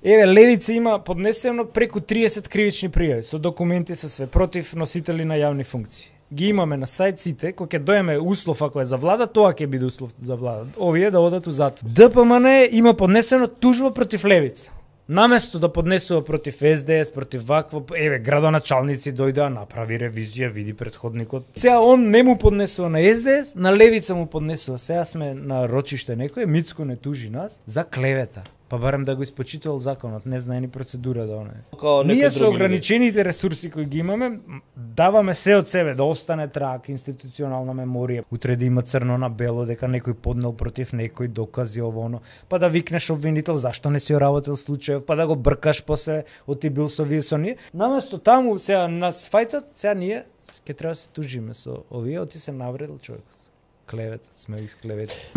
Еве, Левица има поднесено преку 30 кривични пријави со документи со све против носители на јавни функции. Ги имаме на сајт сите, кога ќе доеме услов ако е за влада, тоа ќе биде услов за влада. Овие да одат у затвор. ДПМН има поднесено тужба против Левица. Наместо да поднесува против СДС, против вакво, еве, градоначалници дојдеа, направи ревизија, види претходникот. Сега он не му поднесува на СДС, на Левица му поднесува. Сега сме на рочиште некој, Мицко не тужи нас за клевета. Па барем да го испочитувал законот, не знае ни процедура да оне. Ние со ограничените ресурси кои ги имаме, даваме се од себе да остане трак, институционална меморија. Утре да има црно на бело дека некој поднел против некој, докази ово оно, па да викнеш обвинител зашто не си работел случајов, па да го бркаш после од ти бил со вие со ние. Наместо таму сега на фајтот, сега ние ќе треба да се тужиме со овие, оти се навредил човекот. Клевет, сме ги склевети.